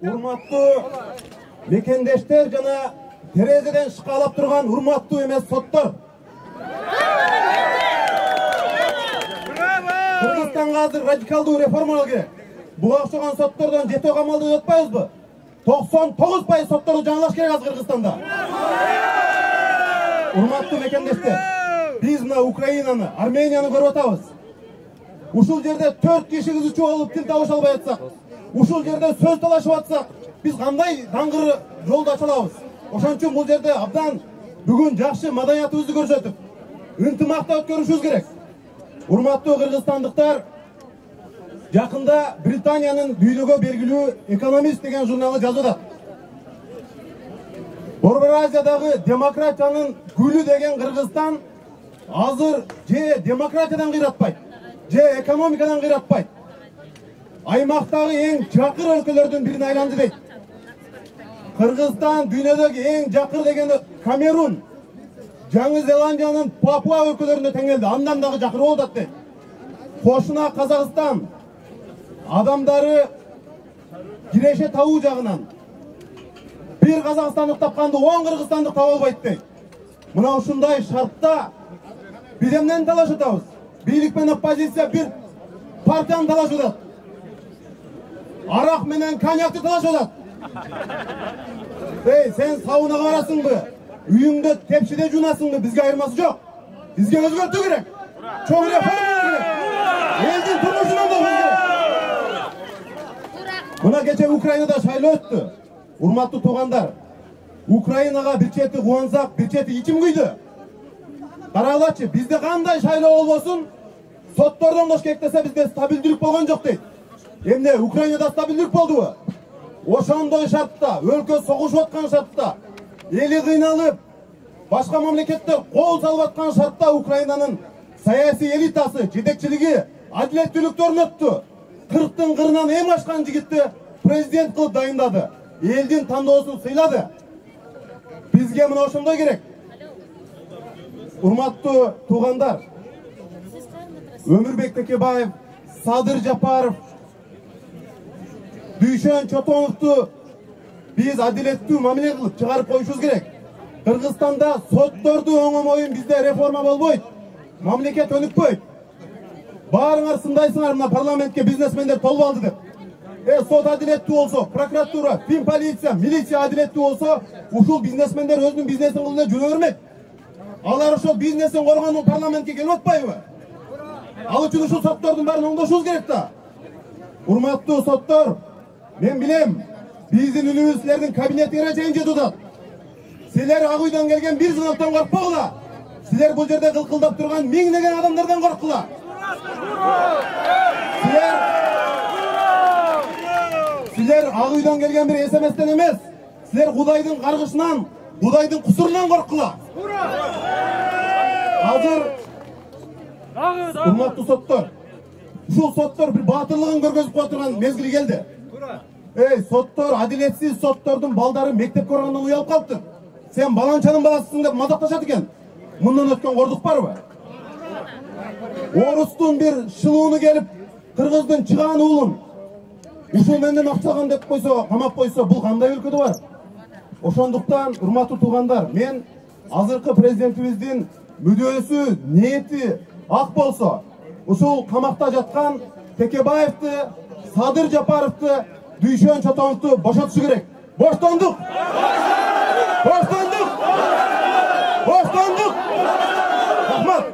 Урматтуу мекендештер жана терезеден шыкалап турган урматтуу эмес соттор. Кыргызстанга азыр радикалдуу реформалар керек. Буга окшогон соттордон жетөө камалды деп атпайбызбы? 99% сотторду жаңылаш керек азыр Кыргызстанда. Урматтуу мекендештер, биз мына Украинаны, Арменияны көрүп атабыз. Ушул жерде 4 киши кызычуу болуп тил табыша албай атсак, ушул жерде сөз талашып атсак, биз кандай даңгыр жолду ача алабыз? Ошон үчүн бул жерде абдан бүгүн жакшы маданиятыбызды көрсөтүп, ынтымакта өткөрүшүбүз керек. Урматтуу кыргызстандыктар, жакында Британиянын дүйнөгө белгилүү Экономист деген журналы жазып атат. Борбор Азиядагы демократиянын гүлү деген Кыргызстан азыр же демократиядан кыйратпайт, же экономикадан кыйратпайт. Аймактагы эң жакыр өлкөлөрдүн бирине айланды дейт. Кыргызстан дүйнөдөгү эң жакыр дегени Камерун, Жаңы Зеландиянын Папуа өлкөлөрүнө тең келди. Андан дагы жакыр болуп атат дейт. Кошуна Казакстан адамдары киреше табуу жагынан бир казакстандык тапканды 10 кыргызстандык таба албайт дейт. Мына ушундай шартта биз эмнени талашып атабыз? Бийлик менен оппозиция бир партияны талашып атат. Арак менен коньякты талашып атат. Сен сабынага барасыңбы? Үйүңдө тепшиде жуунасыңбы? Бизге айырмасы жок. Бизге өзгөртүү керек. Чоң реформа керек. Элдин турмушун оңдош керек. Мына кече Украинада шайлоо өттү. Урматтуу туугандар, Украинага бир чети кубансак, бир чети ичим күйдү. Карагылачы, бизде кандай шайлоо болбосун, соттордон кош керек десе бизде стабилдүүлүк болгон жок дейт. Эмне Украинада стабилдүүлүк болдубу? Ошондой шартта, өлкө согушуп аткан шартта, эли кыйналып, башка мамлекеттер кол салып аткан шартта Украинанын саясий элитасы, жетекчилиги адилеттүүлүктү орнотту. 40-тын кырынан эң ашкан жигитти президент кылып дайындады. Элдин тандоосун сыйлады. Бизге мына ошондой керек. Урматтуу туугандар, Өмүрбек Текебаев, Садыр Жапаров, Дүйшөн Чотоновду биз адилеттүү мамиле кылып чыгарып коюшубуз керек. Кыргызстанда сотторду оңомойун бизде реформа болбойт. Мамлекет өнүкпөйт. Баарыңар сындайсыңар мына парламентке бизнесмендер толуп алды деп. Сот адилеттүү болсо, прокуратура, фин полиция, милиция адилеттүү болсо, ушул бизнесмендер өзүнүн бизнесин кылып эле жүрө бермек. Алар ошол бизнесин коргонуу парламентке келип атпайбы? Ал үчүн ушул соттордун баарын оңдошубуз керек да. Урматтуу соттор, мен билем, биздин үнүбүз силердин кабинетиңерге чейин жетип атат. Силер Ак үйдөн келген бир сыныктан коркпогула. Силер бул жерде кылкылдап турган миңдеген адамдардан корккула. Силер Ак үйдөн келген бир СМСтен эмес, силер Кудайдын каргышынан, Кудайдын кусурунан корккула. Азыр урматтуу соттор, ушул соттор бир баатырлыгын көргөзүп кое турган мезгили келди. Соттор, адилетсиз соттордун балдары мектепке баргандан уялып калыптыр. Сен баланчанын баласысың деп мазакташат экен. Мындан өткөн кордук барбы? Орустун бир шылууну келип, кыргыздын чыгаан уулун ушул менден акча алган деп койсо, камап койсо, бул кандай өлкөдө бар? Ошондуктан, урматтуу туугандар, мен азыркы президентибиздин мүдөөсү, ниети ак болсо, ушул камакта жаткан Текебаевди, Садыр Жапаровду, Дүйшөн Чотоновду бошотушу керек. Боштондук! Боштондук! Боштондук! Рахмат!